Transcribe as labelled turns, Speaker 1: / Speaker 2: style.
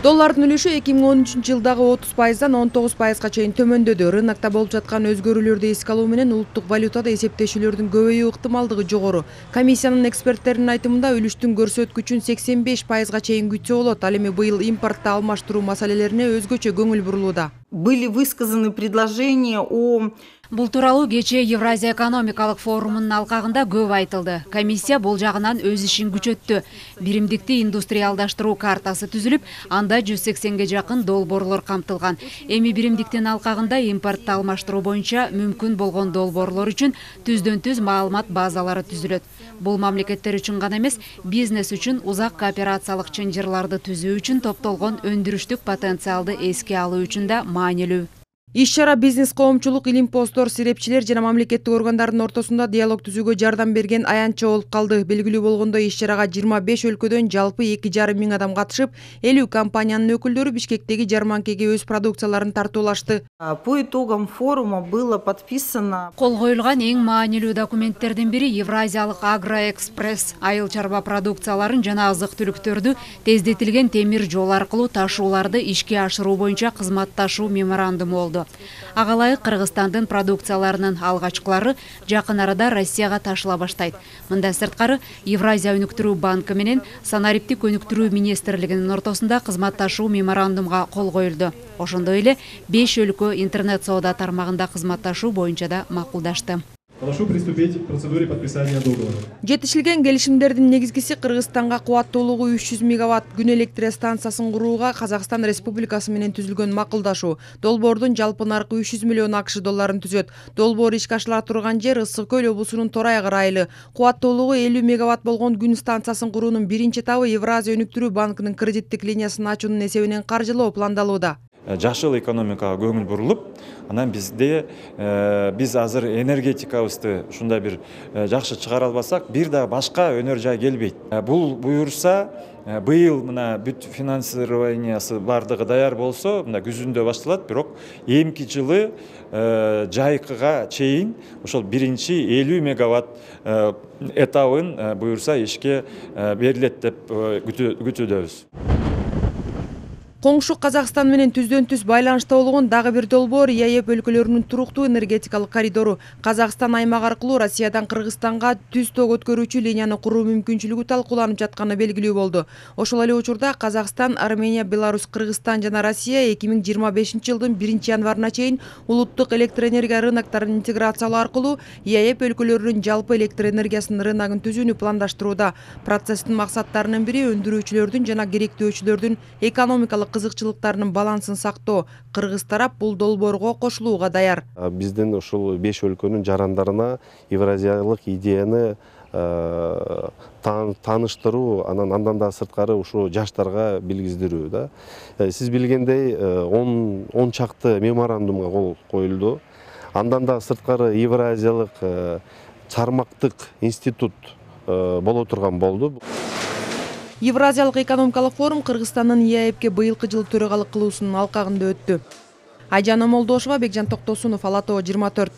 Speaker 1: Доллардын үлүшү 2013-жылдагы 30%дан 19%га чейин төмөндөдү. Рынокто болуп жаткан өзгөрүүлөрдү эске алуу менен улуттук валютада эсептешүүлөрдүн көбөйүү ыктымалдыгы жогору. Комиссиянын эксперттеринин айтымында үлүштүн көрсөткүчүн 85%га чейин күтсө болот. Ал эми быйыл импортто алмаштыруу маселелерине өзгөчө көңүл бурулууда.
Speaker 2: Были высказаны предложения о...
Speaker 3: Бул тууралуу кечээ Евразия экономикалык форумунун алкагында көп айтылды. Комиссия бул жагынан өз ишин күчөттү. Биримдикти индустриалдаштыруу картасы түзүлүп, анда 180ге жакын долбоорлор камтылган. Эми биримдиктин алкагында импортто алмаштыруу боюнча мүмкүн болгон долбоорлор үчүн түздөн-түз маалымат базалары түзүлөт. Бул мамлекеттер үчүн гана эмес, бизнес үчүн узак кооперациялык чынжырларды түзүү үчүн топтолгон өндүрүштүк потенциалды эске алуу үчүн да маанилүү.
Speaker 1: Иш-чара бизнес коомчулук, илимпоздор, серепчилер жана мамлекеттик органдардын ортосунда диалог түзүүгө жардам берген аянтча болуп калды. Белгилүү болгондой, иш-чарага 25 өлкөдөн жалпы 2,5 миң адам катышып, 50 компаниянын өкүлдөрү Бишкектеги жарманкеге өз продукцияларын тартуулашты.
Speaker 2: По итогам форума было подписано...
Speaker 3: Кол коюлган эң маанилүү документтердин бири Евразиялык Агроэкспресс айыл чарба продукцияларын жана азык-түлүктөрдү тездетилген темир жол аркылуу ташууларды ишке ашыруу боюнча кызматташуу меморандуму болду. Ага ылайык Кыргызстандын продукцияларынын алгачкылары жакын арада Россияга ташыла баштайт. Мындан сырткары Евразия өнүктүрүү банкы менен санариптик өнүктүрүү министрлигинин ортосунда кызматташуу меморандумга кол коюлду. Ошондой эле 5 өлкө интернет соода тармагында кызматташуу боюнча да макулдашты.
Speaker 4: Прошу приступить к процедуре подписания договора.
Speaker 1: Жетишилген келишимдердин негизгиси Кыргызстанга кубаттуулугу 300 мегаватт күн электр станциясын курууга Казакстан Республикасы менен түзүлгөн макулдашуу. Долбоордун жалпы наркы 300 миллион АКШ долларын түзөт. Долбоор ишке ашыла турган жер Ысык Көл облусунун Торай району. Кубаттуулугу 50 мегаватт болгон күн станциясын куруунун биринчи этабы Евразия өнүктүрүү банкынын кредиттик линиясын ачуунун эсебинен каржылоо пландалууда.
Speaker 5: Жашыл экономикага көңүл бурулуп, анан биз азыр энергетикабызды ушундай бир жакшы чыгара албасак, бир да башка өнөр жай келбейт. Бул буюрса, быйыл мына бүт финансированиясы бардыгы даяр болсо, мына күзүндө башталат, бирок эмки жылы жайкыга чейин ошол биринчи 50 мегаватт этабын буюрса ишке берилет деп күтүүдөбүз.
Speaker 1: Коңшу Казакстан менен түздөн-түз байланышта болгон дагы бир долбоор ЕАЭП өлкөлөрүнүн туруктуу энергетикалык коридору. Казакстан аймак аркылуу Россиядан Кыргызстанга түз ток өткөрүүчү линияны куруу мүмкүнчүлүгү талкууланып жатканы белгилүү болду. Ошол эле учурда Казакстан, Армения, Беларусь, Кыргызстан жана Россия 2025-жылдын 1-январына чейин улуттук электр энергия рынокторун интеграциялоо аркылуу ЕАЭП өлкөлөрүнүн жалпы электр энергиясынын рыногун түзүүнү пландаштырууда. Процесстин максаттарынын бири өндүрүүчүлөрдүн жана керектөөчүлөрдүн экономикалык кызыкчылыктарынын балансын сактоо. Кыргыз тарап бул долбоорго кошулууга даяр.
Speaker 6: Биздин ушул 5 өлкөнүн жарандарына евразиялык идеяны тааныштыруу, андан да сырткары ушу жаштарга билгиздирүү да. Сиз билгендей 10 чакты меморандумга кол коюлду. Андан да сырткары евразиялык чармактык институт боло турган болду.
Speaker 1: Евразиялык экономикалык форум Кыргызстандын ЕАЭПке быйылкы жылы төрагалык кылуусунун алкагында өттү. Айжан Омолдошова, Бекжан Токтосунов, Ала Тоо 24.